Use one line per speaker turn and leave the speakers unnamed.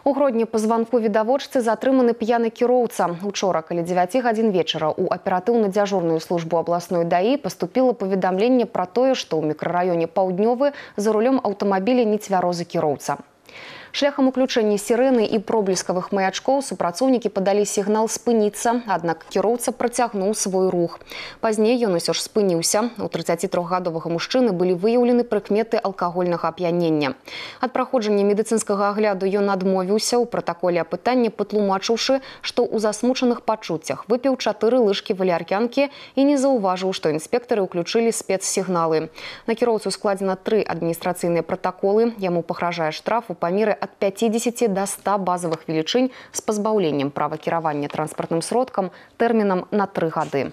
У Гродні по званку відавочцы затрыманы п'яны кіроўца. Учора, каля 9 гадзін вечара, у аператыўна-дзяжурную службу абласной ДАІ паступіла паведамленне пра тое, што ў мікрараёне Паўднёвы за рулём аўтамабіля нецвярозы кіроўца. Шляхам уключэння сірэны і проблескавых маячкоў супрацоўнікі падалі сігнал спыніцца, аднак кіроўца працягнуў свой рух. Пазней ён усё ж спыніўся. У 33-гадовага мужчыны былі выяўлены прыкметы алкагольнага ап'янення. Ад праходжання медыцынскага агляду ён адмовіўся, у пратаколе апытання патлумачыўшы, што ў засмучаных пачуццях выпіў 4 лыжкі валяркянкі і не заўважыў, што інспектары ўключылі спецсігналы. На кіроўцу складзена 3 адміністрацыйныя пратаколы. Яму пагражае штраф у памеры ад 50 до 100 базовых велічынь з пазбаўленнем права кіравання транспартным сродкам тэрмінам на 3 гады.